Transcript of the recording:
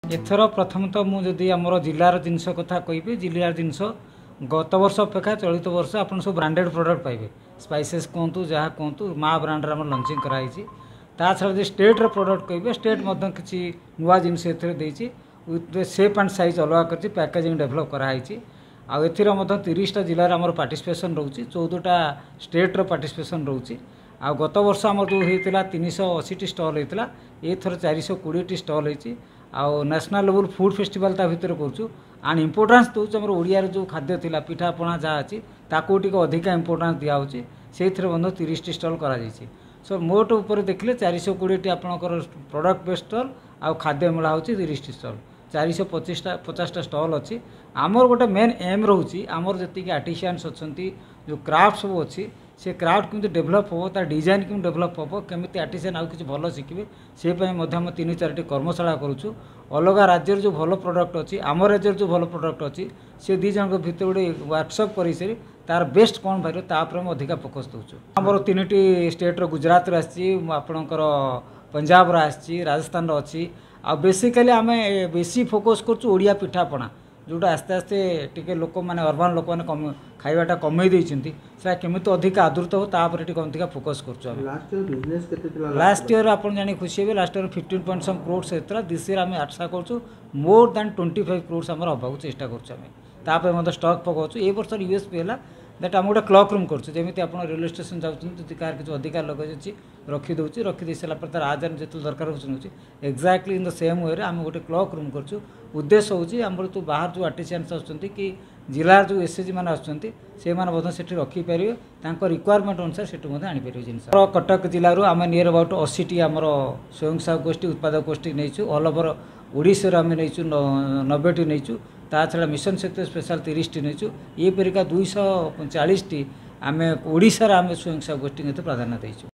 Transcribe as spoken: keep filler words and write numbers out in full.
ଏଥର ପ୍ରଥମତଃ ମୁଁ ଯଦି ଆମର ଜିଲ୍ଲାର ଜିନିଷ କଥା କହିବି ଜିଲ୍ଲାର ଜିନିଷ ଗତ ବର୍ଷ ଅପେକ୍ଷା ଚଳିତ ବର୍ଷ ଆପଣ ସବୁ ବ୍ରାଣ୍ଡେଡ଼ ପ୍ରଡ଼କ୍ଟ ପାଇବେ ସ୍ପାଇସେସ୍ କୁହନ୍ତୁ ଯାହା କୁହନ୍ତୁ ମା ବ୍ରାଣ୍ଡର ଆମର ଲଞ୍ଚିଂ କରାହେଇଛି ତା ଛଡ଼ା ଯଦି ଷ୍ଟେଟ୍ର ପ୍ରଡ଼କ୍ଟ କହିବେ ଷ୍ଟେଟ୍ ମଧ୍ୟ କିଛି ନୂଆ ଜିନିଷ ଏଥିରେ ଦେଇଛି ୱିଥ୍ ସେପ୍ ଆଣ୍ଡ ସାଇଜ୍ ଅଲଗା କରିଛି ପ୍ୟାକେଜିଂ ଡେଭଲପ୍ କରାହେଇଛି ଆଉ ଏଥିରେ ମଧ୍ୟ ତିରିଶଟା ଜିଲ୍ଲାର ଆମର ପାର୍ଟିସିପେସନ୍ ରହୁଛି ଚଉଦଟା ଷ୍ଟେଟ୍ର ପାର୍ଟିସିପେସନ୍ ରହୁଛି ଆଉ ଗତ ବର୍ଷ ଆମର ଯେଉଁ ହେଇଥିଲା ତିନିଶହ ଅଶୀଟି ଷ୍ଟଲ୍ ହେଇଥିଲା ଏଥର ଚାରିଶହ କୋଡ଼ିଏଟି ଷ୍ଟଲ୍ ହେଇଛି ଆଉ ନ୍ୟାସନାଲ୍ ଲେଭେଲ୍ ଫୁଡ଼୍ ଫେଷ୍ଟିଭାଲ୍ ତା ଭିତରେ କରୁଛୁ ଆଣ୍ଡ ଇମ୍ପୋର୍ଟାନ୍ସ ଦେଉଛୁ ଆମର ଓଡ଼ିଆର ଯେଉଁ ଖାଦ୍ୟ ଥିଲା ପିଠାପଣା ଯାହା ଅଛି ତାକୁ ଟିକେ ଅଧିକା ଇମ୍ପୋର୍ଟାନ୍ସ ଦିଆହେଉଛି ସେଇଥିରେ ମଧ୍ୟ ତିରିଶଟି ଷ୍ଟଲ୍ କରାଯାଇଛି ସୋ ମୋଟ ଉପରେ ଦେଖିଲେ ଚାରିଶହ କୋଡ଼ିଏଟି ଆପଣଙ୍କର ପ୍ରଡ଼କ୍ଟ ବେସ୍ ଷ୍ଟଲ୍ ଆଉ ଖାଦ୍ୟ ମେଳା ହେଉଛି ତିରିଶଟି ଷ୍ଟଲ୍ ଚାରିଶହ ପଚିଶଟା ପଚାଶଟା ଷ୍ଟଲ୍ ଅଛି ଆମର ଗୋଟେ ମେନ୍ ଏମ୍ ରହୁଛି ଆମର ଯେତିକି ଆର୍ଟିସିଆନ୍ସ ଅଛନ୍ତି ଯେଉଁ କ୍ରାଫ୍ଟ ସବୁ ଅଛି ସେ କ୍ରାଫ୍ଟ କେମିତି ଡେଭଲପ୍ ହେବ ତା ଡିଜାଇନ୍ କେମିତି ଡେଭଲପ୍ ହେବ କେମିତି ଆର୍ଟିସିଆନ୍ ଆଉ କିଛି ଭଲ ଶିଖିବେ ସେ ପାଇଁ ମଧ୍ୟ ଆମେ ତିନି ଚାରିଟି କର୍ମଶାଳା କରୁଛୁ ଅଲଗା ରାଜ୍ୟରେ ଯେଉଁ ଭଲ ପ୍ରଡ଼କ୍ଟ ଅଛି ଆମ ରାଜ୍ୟରେ ଯେଉଁ ଭଲ ପ୍ରଡ଼କ୍ଟ ଅଛି ସେ ଦୁଇ ଜଣଙ୍କ ଭିତରେ ଗୋଟେ ୱାର୍କସପ୍ କରିସାରି ତାର ବେଷ୍ଟ କ'ଣ ବାହାରିବ ତା ଉପରେ ଆମେ ଅଧିକା ଫୋକସ୍ ଦେଉଛୁ ଆମର ତିନିଟି ଷ୍ଟେଟ୍ର ଗୁଜରାଟରୁ ଆସିଛି ଆପଣଙ୍କର ପଞ୍ଜାବର ଆସିଛି ରାଜସ୍ଥାନର ଅଛି ଆଉ ବେସିକାଲି ଆମେ ବେଶୀ ଫୋକସ୍ କରୁଛୁ ଓଡ଼ିଆ ପିଠାପଣା ଯେଉଁଟା ଆସ୍ତେ ଆସ୍ତେ ଟିକେ ଲୋକମାନେ ଅର୍ବାନ୍ ଲୋକମାନେ କମ ଖାଇବାଟା କମେଇ ଦେଇଛନ୍ତି ସେଟା କେମିତି ଅଧିକା ଆଦୃତ ହେବ ତା ଉପରେ ଟିକେ ଅଧିକା ଫୋକସ୍ କରୁଛୁ ଆମେ ଲାଷ୍ଟ ଇୟର ବିଜନେସ୍ କେତେ ଥିଲା ଲାଷ୍ଟ ଇୟର ଆପଣ ଜାଣି ଖୁସି ହେବେ last year fifteen point some crores ହେଇଥିଲା this year ଆମେ ଆଶା କରୁଛୁ more than twenty five crores ଆମର ହେବାକୁ ଚେଷ୍ଟା କରୁଛୁ ଆମେ ତାପରେ ମଧ୍ୟ ଷ୍ଟକ୍ ପକାଉଛୁ ଏ ବର୍ଷର ୟୁ ଏସ୍ ପି ହେଲା that ଆମେ ଗୋଟେ କ୍ଲକ୍ ରୁମ୍ କରୁଛୁ ଯେମିତି ଆପଣ ରେଲୱେ ଷ୍ଟେସନ୍ ଯାଉଛନ୍ତି ଯଦି କାହାର କିଛି ଅଧିକା ଲଗେଜ୍ ଅଛି ରଖିଦେଉଛି ରଖିଦେଇ ସାରିଲା ପରେ ତାର ଆଜାନ ଯେତେବେଳେ ଦରକାର ହେଉଛି ନେଉଛି ଏକ୍ଜାକ୍ଟଲି ଇନ୍ the same ୱେରେ ଆମେ ଗୋଟେ କ୍ଲକ୍ ରୁମ୍ କରୁଛୁ ଉଦ୍ଦେଶ୍ୟ ହେଉଛି ଆମର ଯେଉଁ ବାହାର ଯେଉଁ ଆର୍ଟିସିଆନ୍ସ ଆସୁଛନ୍ତି କି ଜିଲ୍ଲାର ଯେଉଁ ଏସ୍ ଏଚ୍ ଜି ମାନେ ଆସୁଛନ୍ତି ସେମାନେ ମଧ୍ୟ ସେଠି ରଖିପାରିବେ ତାଙ୍କ ରିକ୍ୱାରମେଣ୍ଟ ଅନୁସାରେ ସେଠୁ ମଧ୍ୟ ଆଣିପାରିବେ ଜିନିଷ କଟକ ଜିଲ୍ଲାରୁ ଆମେ ନିୟର ଆବାଉଟ୍ ଅଶୀଟି ଆମର ସ୍ୱୟଂ ସହାୟକ ଗୋଷ୍ଠୀ ଉତ୍ପାଦକ ଗୋଷ୍ଠୀ ନେଇଛୁ ଅଲ୍ ଓଭର ଓଡ଼ିଶାରୁ ଆମେ ନେଇଛୁ ନବେଟି ନେଇଛୁ ତା ଛଡ଼ା ମିଶନ ଶକ୍ତି ସ୍ପେଶାଲ ତିରିଶଟି ନେଇଛୁ ଏପରିକା ଦୁଇଶହ ଚାଳିଶଟି ଆମେ ଓଡ଼ିଶାର ଆମେ ସ୍ୱୟଂ ସହାୟକ ଗୋଷ୍ଠୀଙ୍କୁ ଏତେ ପ୍ରାଧାନ୍ୟ ଦେଇଛୁ